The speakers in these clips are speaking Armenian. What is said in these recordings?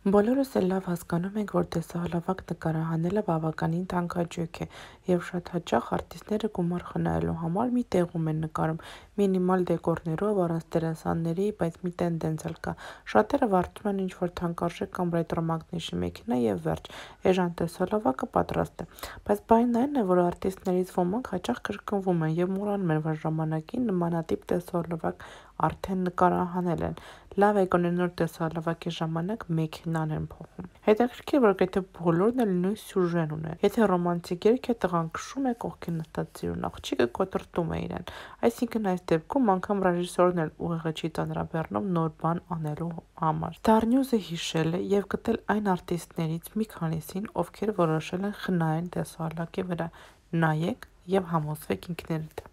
Բոլորս էլ լավ հասկանում ենք, որ տեսահոլովակ նկարահանելը բավականին թանկաճույք է, և շատ հաճախ արտիստները գումար խնայելու համար մի տեղում են նկարում, մինիմալ դեկորներով, առանց դերասանների, բայց մի տենդենց էլ կա. շատերը վարձում են ինչ-որ թանկարժեք կամ ռետրո մագնիշի մեքենա և վերջ, էժան տեսահոլովակը պատրաստ է: Բայց բանն այն է, որ արտիստներից ոմանք հաճախ կրկնվում են և մոռանում են, որ ժամանակին նմանատիպ տեսահոլովակ արդեն նկարահանել են, լավ է գոնե նոր տեսահոլովակի ժամանակ մեքենան են փոխում: Հետաքրքիր է, որ գրեթե բոլորն էլ նույն սյուժեն ունեն: Եթե ռոմանտիկ երգ է, տղան քշում է, կողքին նստած սիրուն աղջիկը կոտրտում է իրեն: Այսինքն այս դեպքում անգամ ռեժիսորն էլ ուղեղը չի ծանրաբեռնում նոր բան անելու համար: Ստարնյուզը հիշել է և գտել այն արտիստներից մի քանիսին, ովքեր որոշել են խնայեն տեսահոլովակի վրա: Նայեք և համոզվեք ինքներդ: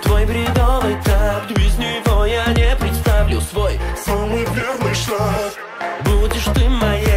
Твой бредовый так, без него я не представлю свой самый верный шаг. Будешь ты моя